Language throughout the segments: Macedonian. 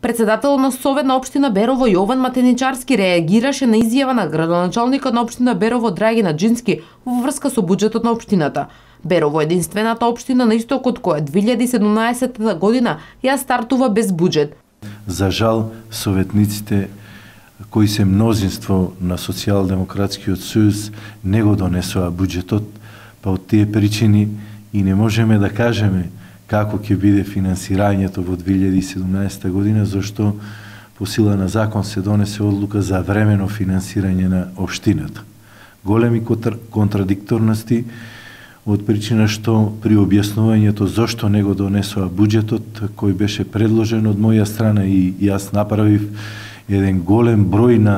Председателот на Совет на општина Берово Јован Матеничарски реагираше на изјава на градоначалникот на општина Берово Драгина Џински во врска со буџетот на општината. Берово е единствената општина на истокот која 2017 година ја стартува без буџет. За жал, советниците кои се мнозинство на Социјалдемократскиот сојуз не го донесоа буџетот, па од тие причини и не можеме да кажеме како ќе биде финансирањето во 2017 година, зашто по сила на закон се донесе одлука за времено финансирање на општината. Големи контрадикторности од причина што при објаснувањето зошто не го донесоа буџетот кој беше предложен од моја страна и јас направив еден голем број на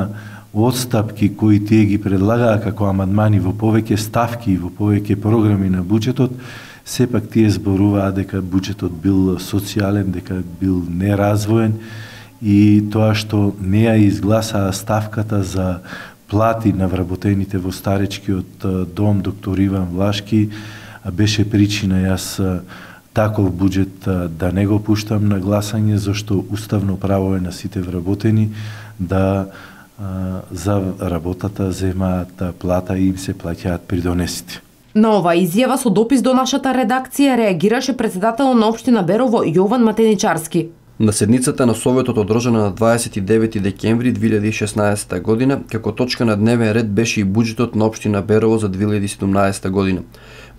одстапки кои тие ги предлагаа како амандмани во повеќе ставки и во повеќе програми на буџетот, сепак тие зборуваа дека буџетот бил социјален, дека бил неразвоен и тоа што не ја изгласаа ставката за плати на вработените во старечкиот дом доктор Иван Влашки беше причина јас таков буџет да не го пуштам на гласање, зашто уставно право е на сите вработени да за работата земаат плата и им се плаќаат придонесите. На ова изјава со допис до нашата редакција реагираше председателот на општина Берово Јован Матеничарски. На седницата на Советот одржана на 29 декември 2016 година, како точка на дневен ред беше и буџетот на општина Берово за 2017 година.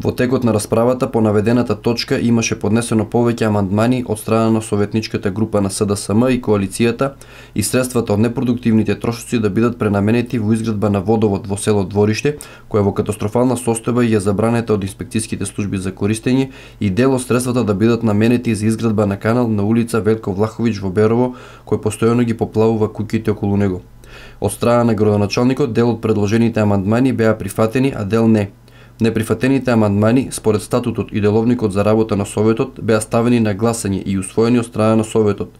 Во текот на расправата по наведената точка имаше поднесено повеќе амандмани од страна на советничката група на СДСМ и коалицијата и средствата од непродуктивните трошоци да бидат пренаменети во изградба на водовод во село Двориште, која во катастрофална состојба и е забранета од инспекцијските служби за користење, и дел од средствата да бидат наменети за изградба на канал на улица Велко Влаховиќ во Берово, кој постојано ги поплавува куќите околу него. Од страна на градоначалникот дел од предложените амандмани беа прифатени, а дел не. Неприфатените амандмани, според статутот и деловникот за работа на Советот, беа ставени на гласање и усвоени од страна на Советот.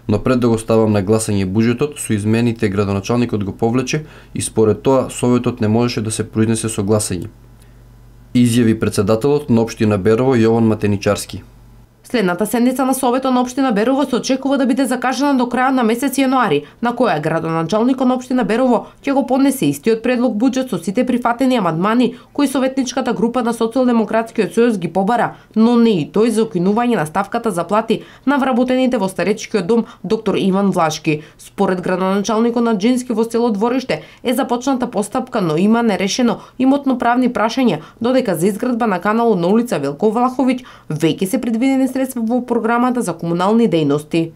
Но пред да го ставам на гласање буџетот, со измените градоначалникот го повлече и според тоа Советот не можеше да се произнесе со гласање. Изјави председателот на општина Берово Јован Матеничарски. Следната седница на Советот на општина Берово се очекува да биде закажана до крајот на месец јануари, на која градоначалникот на општина Берово ќе го поднесе истиот предлог буџет со сите прифатени амандмани кои советничката група на Социјалдемократскиот сојуз ги побара, но не и тој за укинување на ставката за плати на вработените во старечкиот дом доктор Иван Влашки. Според градоначалникот на Џински во село Двориште е започната постапка, но има нерешено имотно-правни прашања, додека за изградба на каналот на улица Велко Влаховиќ веќе се предвидени средства во програмата за комунални дејности.